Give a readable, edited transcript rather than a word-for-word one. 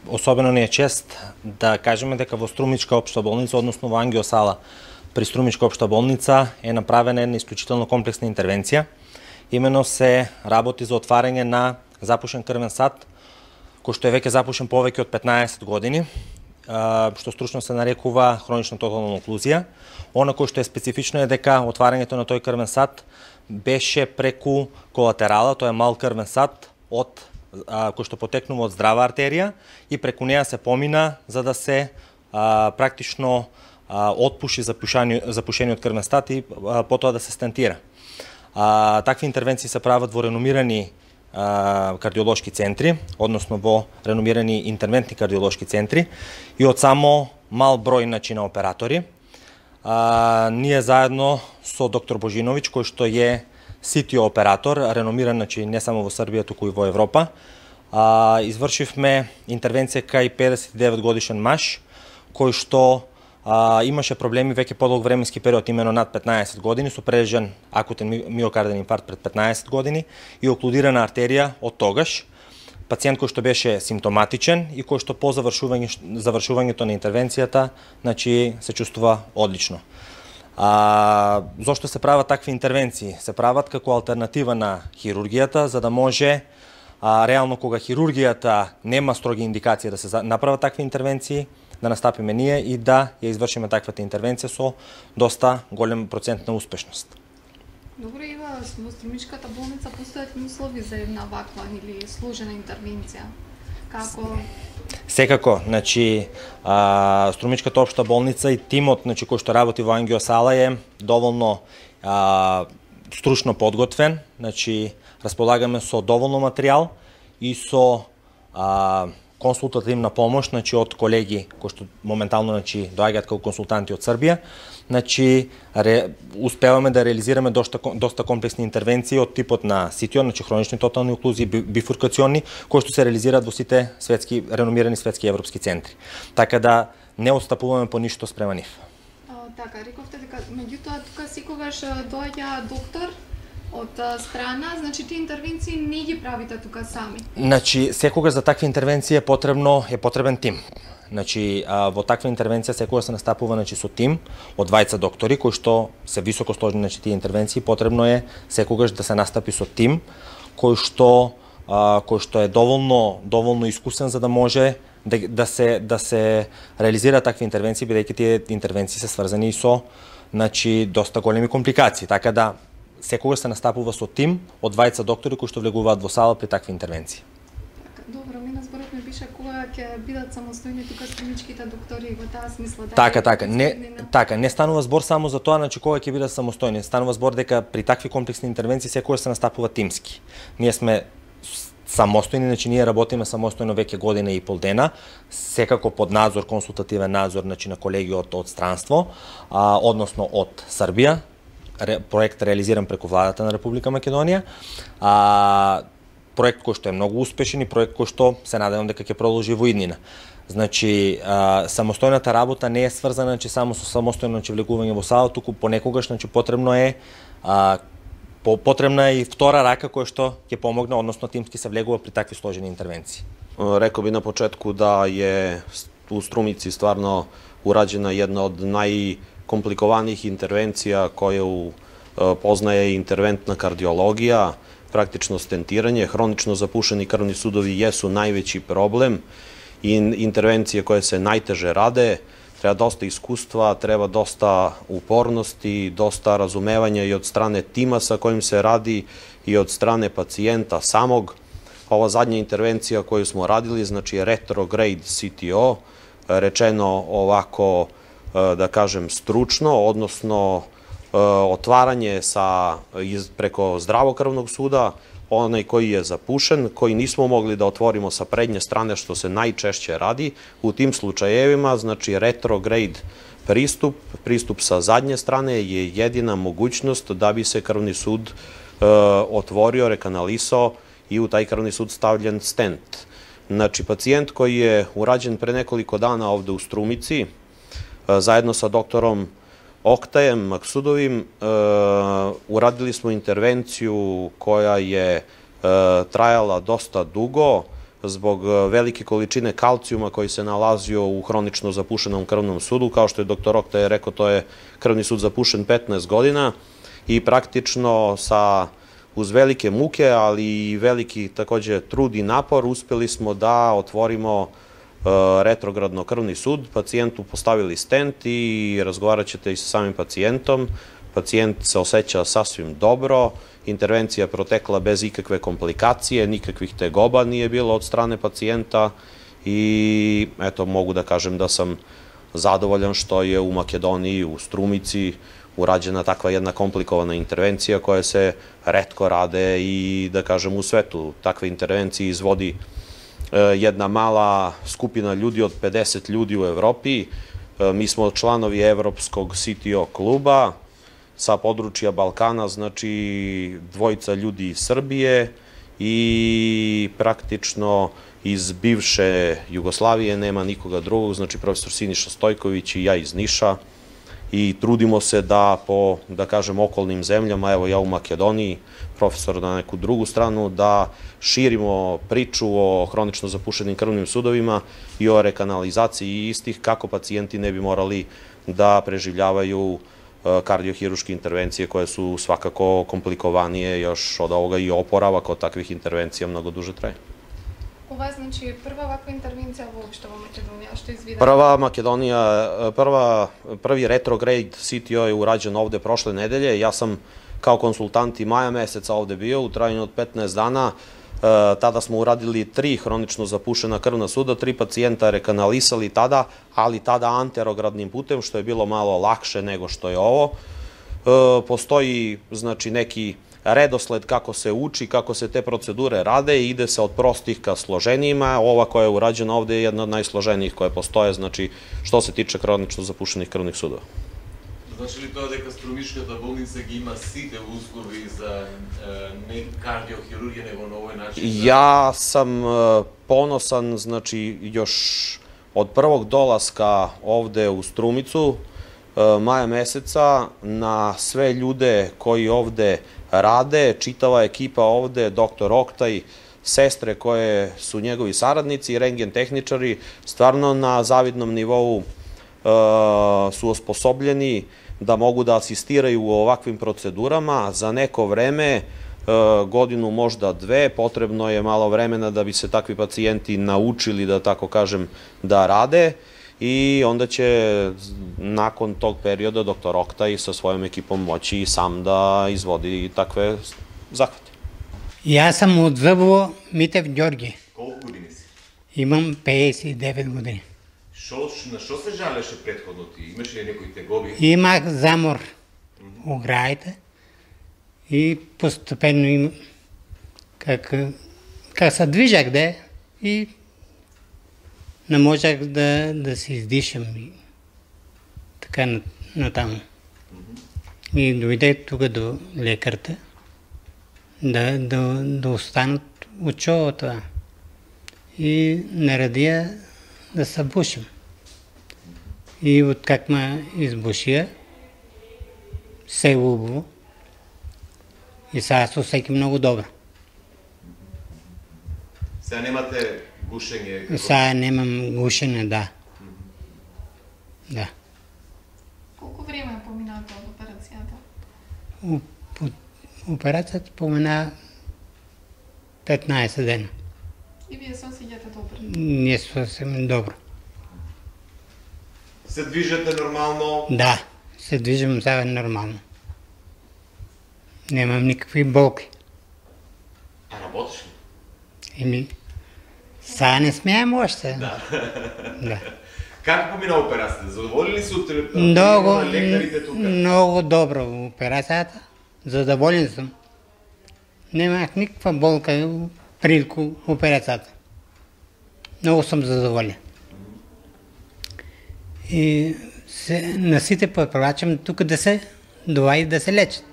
особено ни е чест да кажеме дека во Струмичка општа болница, односно во ангиосала при Струмичка општа болница е направена една исклучително комплексна интервенција. Имено се работи за отварање на запушен крвен сад, кој што е веќе запушен повеќе од 15 години, што стручно се нарекува хронична тотална оклузија. Она кој што е специфично е дека отварањето на тој крвен сад беше преку колатерала, тоа е мал крвен сад кој што потекнува од здрава артерија и преку неа се помина за да се практично отпуши запушениот крвен сад и потоа да се стентира. Такви интервенции се прават во реномирани кардиолошки центри, односно во реномирани интервентни кардиолошки центри и од само мал број на оператори. Ние заедно со доктор Божиновиќ, кој што е CTO оператор, реномиран не само во Србија, туку и во Европа, извршивме интервенција кај 59 годишен маж, кој што имаше проблеми веќе подолг временски период, имено над 15 години, со прележен акутен миокарден инфаркт пред 15 години и оклудирана артерија од тогаш. Пациент кој што беше симптоматичен и кој што по завршувањето на интервенцијата, се чувствува одлично. Зошто се прават такви интервенции? Се прават како алтернатива на хирургијата, за да може реално кога хирургијата нема строги индикации да се направат такви интервенции, да настапиме ние и да ја извршиме таквата интервенција со доста голем процент на успешност. Добро, Ива, во Струмичката болница постојат услови за една ваква или сложена интервенција? Како? Секако, Струмичката општа болница и тимот кој што работи во ангиосала е доволно стручно подготвен, располагаме со доволно материјал и со консултативна помош од колеги кои што моментално доаѓаат како консултанти од Србија. Успеваме да реализираме доста комплексни интервенции од типот на CTO, хронични тотални оклузии, бифуркациони, кои што се реализираат во сите реномирани светски и европски центри. Така да не отстапуваме по ништо спрема нив. Така, рековте дека меѓутоа тука секогаш доаѓа доктор од страна, тие интервенции не ги правите тука сами? Секогаш за такви интервенции е потребен тим. Во таква интервенција секогаш се настапува со тим од двајца доктори кои што се високо сложни тие интервенции. Потребно е секогаш да се настапи со тим кој што е доволно искусен за да може да се реализира такви интервенции, бидејќи тие интервенции се сврзани со доста големи компликации. Така да секогаш се настапува со тим од двајца доктори кои што влегуваат во сала при такви интервенции. Добро, ми на зборот ме пише кога ќе бидат самостојни тука струмичките доктори во таа смисла. Така, не станува збор само за тоа, кога ќе бидат самостојни. Станува збор дека при такви комплексни интервенции секогаш се настапува тимски. Ние сме самостојни, ние работиме самостојно веќе година и пол дена, секако под надзор, консултативен надзор на колеги од странство, односно од Србија. Проект реализиран преку владата на Република Македонија. Проект кој што е многу успешен и проект кој што се надевам дека ќе продолжи во иднина. Самостојната работа не е сврзана само со самостојно влегување во сала, туку понекогаш потребна е и втора рака која што ќе помогне, односно тимски се влегува при такви сложени интервенции. Рекол би на почетку да е у Струмици стварно ураđена една од најкомпликованих интервенција која познае интервентна кардиологија, практично стентирање, хронично запушени крвни судови јесу највеќи проблем и интервенcije koje se najteže rade, treba dosta iskustva, treba dosta upornosti, dosta razumevanja i od strane tima sa kojim se radi i od strane pacijenta samog. Ova zadnja intervencija koju smo radili, znači retrograde CTO, rečeno ovako, da kažem, stručno, odnosno otvaranje preko zdravokrvnog suda, onaj koji je zapušen, koji nismo mogli da otvorimo sa prednje strane, što se najčešće radi. U tim slučajevima, znači retrograde pristup sa zadnje strane je jedina mogućnost da bi se krvni sud otvorio, rekanalisao i u taj krvni sud stavljen stent. Znači, pacijent koji je urađen pre nekoliko dana ovde u Strumici, zajedno sa doktorom Oktajem Maksudovim, uradili smo intervenciju koja je trajala dosta dugo. zbog velike količine kalcijuma koji se nalazio u hronično zapušenom krvnom sudu. Kao što je dr. Oktaj rekao, to je krvni sud zapušen 15 godina i praktično uz velike muke, ali i veliki takođe trud i napor uspeli smo da otvorimo retrogradno krvni sud, pacijentu postavili stent i razgovarat ćete i sa samim pacijentom. Pacijent se osjeća sasvim dobro, intervencija je protekla bez ikakve komplikacije, nikakvih tegoba nije bilo od strane pacijenta i eto, mogu da kažem da sam zadovoljan što je u Makedoniji, u Strumici, urađena takva jedna komplikovana intervencija koja se retko rade i da kažem u svetu. Takve intervencije izvodi jedna mala skupina ljudi od 50 ljudi u Evropi. Mi smo članovi Evropskog CTO kluba sa područja Balkana, znači dvojica ljudi iz Srbije i praktično iz bivše Jugoslavije nema nikoga drugog, znači profesor Siniša Stojković i ja iz Niša. I trudimo se da po, da kažem, okolnim zemljama, evo ja u Makedoniji, profesor na neku drugu stranu, da širimo priču o hronično zapušenim krvnim sudovima i o rekanalizaciji istih, kako pacijenti ne bi morali da preživljavaju kardiohiruške intervencije koje su svakako komplikovanije još od ovoga i oporavak od takvih intervencija mnogo duže traje. Ова е, значи, прва ваква интервенција воопшто во Македонија, што извидете? Prvi retrograde CTO je urađen ovde prošle nedelje. Ja sam kao konsultant i maja meseca ovde bio u trajanju od 15 dana. Tada smo uradili 3 hronično zapušena krvna suda, 3 pacijenta rekanalisali tada, ali tada anterogradnim putem, što je bilo malo lakše nego što je ovo. Postoji, znači, neki redosled kako se uči, kako se te procedure rade i ide se od prostih ka složenijima. Ova koja je urađena ovde je jedna od najsloženijih koje postoje, znači što se tiče hronično zapušenih krvnih sudova. Значи ли тоа дека Струмичката болница ги има сите услови за не кардиохирургија него на овој начин? Ja sam ponosan, znači još od prvog dolaska ovde u Strumicu, maja meseca, na sve ljude koji ovde rade, čitava ekipa ovde, dr. Oktaj, sestre koje su njegovi saradnici, rengen tehničari, stvarno na zavidnom nivou su osposobljeni da mogu da asistiraju u ovakvim procedurama. Za neko vreme, godinu, možda 2, potrebno je malo vremena da bi se takvi pacijenti naučili, da tako kažem, da rade i onda će nakon tog perioda dr. Oktaj sa svojom ekipom moći sam da izvodi takve zahvate. Ja sam od Zъбово, Митев Ѓорги. Колку години си? Имам 59 години. На што се жалеше претходно ти? Имаше ли некои тегоби? Имах замор у граите и постепенно как се движах и не можех да се издишам и така натаму. И дойде тук до лекарта да останат от това. И наредия да се бушим. И откак ме избушия, се убаво. И сега се усеки много добро. Сега немате гушење? Сега немам гушење, да. Да. Колку време е поминато од операцијата? Операцијата помина 15 дена. И вие се осеќате добро? Ние се осеќаме добро. Се движете нормално? Да, се движим сега нормално. Немам никакви болки. А работиш ли? Сега не смеем още. Да. Да. Как помина операцијата? Задоволни ли се от лекарите тука? Много добро операцијата. Задоволен съм. Немах никаква болка при операцијата. Много съм задоволен. И на сите препоръчвам тук да се лечат.